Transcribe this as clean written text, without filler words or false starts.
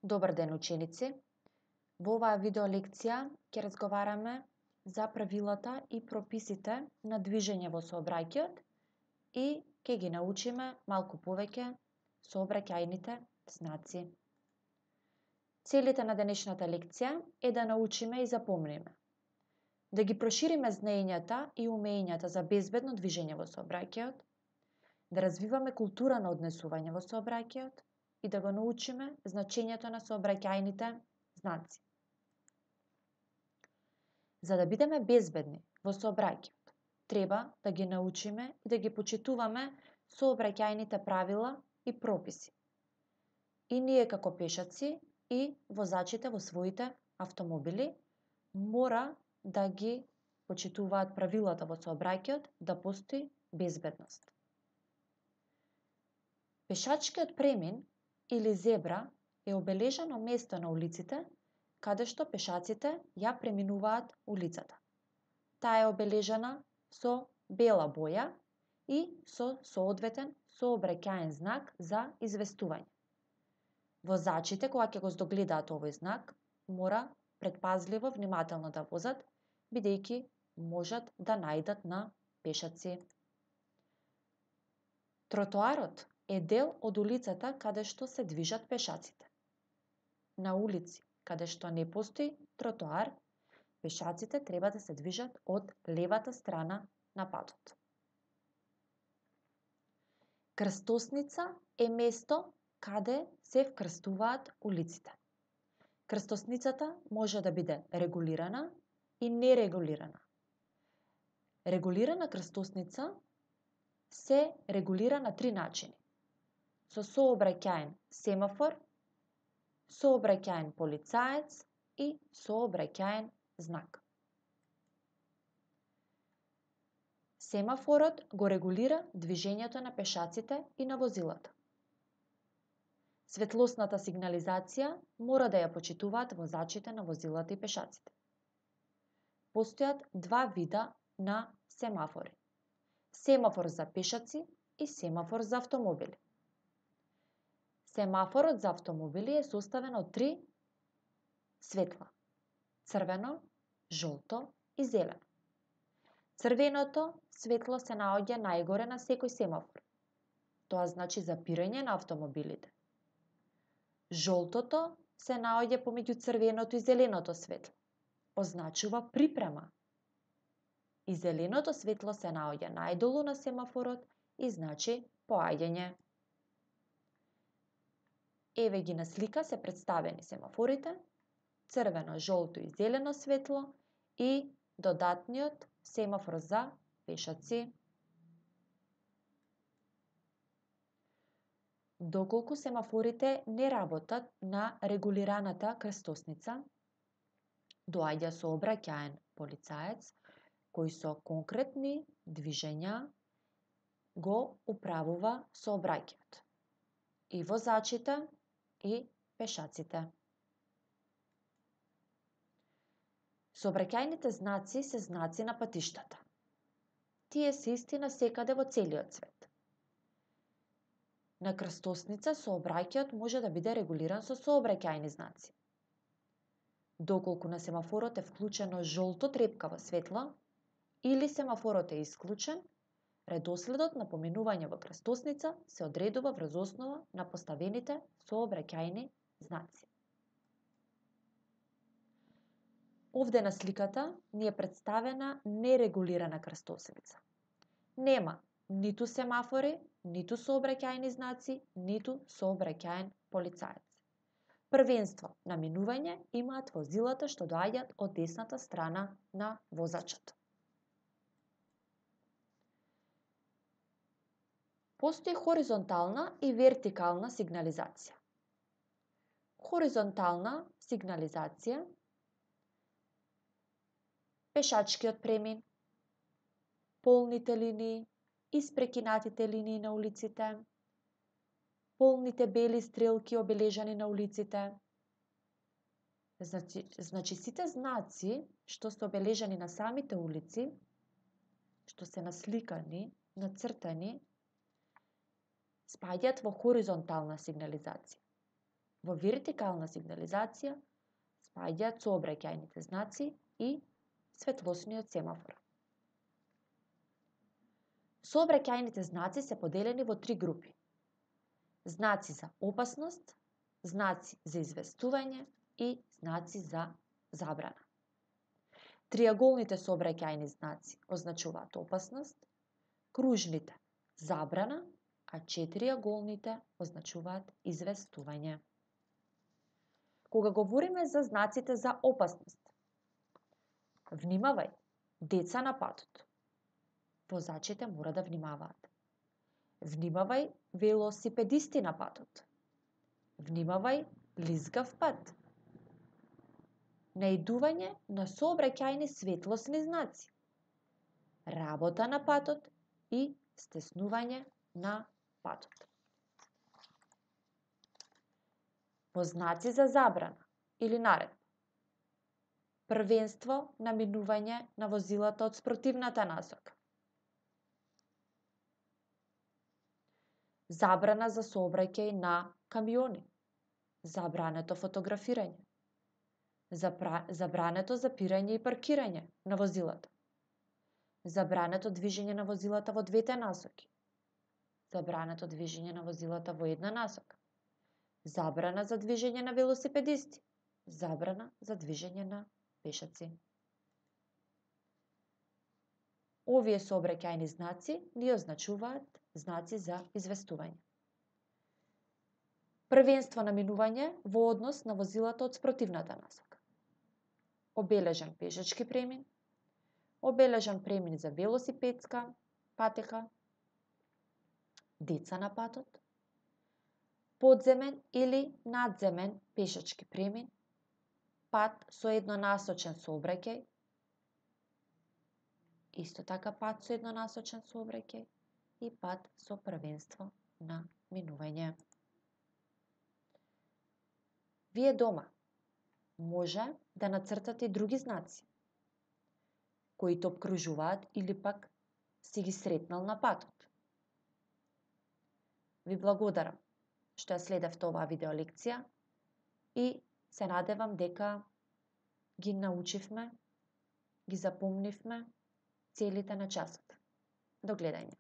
Добар ден, ученици! Во оваа видео лекција ќе разговараме за правилата и прописите на движење во сообраќајот и ќе ги научиме малку повеќе сообраќајните знаци. Целите на денешната лекција е да научиме и запомниме, да ги прошириме знаењата и умењата за безбедно движење во сообраќајот, да развиваме култура на однесување во сообраќајот и да го научиме значењето на сообраќајните знаци. За да бидеме безбедни во сообраќајот, треба да ги научиме и да ги почитуваме сообраќајните правила и прописи. И ние како пешаци и возачите во своите автомобили мора да ги почитуваат правилата во сообраќајот да постои безбедност. Пешачкиот премин или зебра е обележано место на улиците каде што пешаците ја преминуваат улицата. Таа е обележана со бела боја и со соодветен сообраќаен знак за известување. Возачите, кога ќе го здогледаат овој знак, мора предпазливо, внимателно да возат, бидејќи можат да наидат на пешаци. Тротоарот е дел од улицата каде што се движат пешаците. На улици каде што не постои тротоар, пешаците треба да се движат од левата страна на патот. Крстосница е место каде се вкрстуваат улиците. Крстосницата може да биде регулирана и нерегулирана. Регулирана крстосница се регулира на три начини: со сообраќаен семафор, сообраќаен полицаец и сообраќаен знак. Семафорот го регулира движењето на пешаците и на возилата. Светлосната сигнализација мора да ја почитуваат возачите на возилата и пешаците. Постојат два вида на семафори: семафор за пешаци и семафор за автомобили. Семафорот за автомобили е составен од три светла: црвено, жолто и зелено. Црвеното светло се наоѓа најгоре на секој семафор. Тоа значи запирање на автомобилите. Жолтото се наоѓа помеѓу црвеното и зеленото светло. Означува припрема. И зеленото светло се наоѓа најдолу на семафорот и значи поаѓање. Еве ги на слика се представени семафорите: црвено, жолто и зелено светло и додатниот семафор за пешаци. Доколку семафорите не работат на регулираната крстосница, доаѓа сообраќаен полицаец кој со конкретни движења го управува сообраќајот и возачите и пешаците. Сообраќајните знаци се знаци на патиштата. Тие се исти насекаде во целиот свет. На крстосница сообраќајот може да биде регулиран со сообраќајни знаци. Доколку на семафорот е вклучено жолто трепкаво светло или семафорот е исклучен, редоследот на поминување во крстосница се одредува врз основа на поставените сообраќајни знаци. Овде на сликата ни е представена нерегулирана крстосница. Нема ниту семафори, ниту сообраќајни знаци, ниту сообраќаен полицаец. Првенство на минување имаат возилата што доаѓаат од десната страна на возачот. Постои хоризонтална и вертикална сигнализација. Хоризонтална сигнализација: пешачкиот премин, полните линии, испрекинатите линии на улиците, полните бели стрелки обележани на улиците. Значи сите знаци што се обележани на самите улици, што се насликани, нацртани, спаѓаат во хоризонтална сигнализација. Во вертикална сигнализација спаѓаат сообраќајните знаци и светлосниот семафор. Сообраќајните знаци се поделени во 3 групи. Знаци за опасност, знаци за известување и знаци за забрана. Триаголните сообраќајни знаци означуваат опасност, кружните забрана, а четириаголните означуваат известување. Кога говориме за знаците за опасност, внимавај, деца на патот. Возачите мора да внимаваат. Внимавај, велосипедисти на патот. Внимавај, лизгав пат. Наидување на сообраќајни светлосни знаци. Работа на патот и стеснување на патот. Во знаци за забрана или наредба. Првенство на минување на возилата од спротивната насока. Забрана за сообраќај на камиони. Забрането фотографирање. Забрането запирање и паркирање на возилата. Забрането движење на возилата во двете насоки. Забрането движење на возилата во една насока. Забрана за движење на велосипедисти. Забрана за движење на пешаци. Овие сообраќајни знаци ни означуваат знаци за известување. Првенство на минување во однос на возилата од спротивната насока. Обележан пешачки премин. Обележан премин за велосипедска патека. Деца на патот. Подземен или надземен пешачки премин. Пат со еднонасочен сообраќај. Исто така пат со еднонасочен сообраќај и пат со првенство на минување. Вие дома може да нацртате и други знаци кои те обкружуваат или пак си ги сретнал на патот. Ви благодарам што ја следевте оваа видеолекција и се надевам дека ги научивме, ги запомнивме целите на часот. До гледање.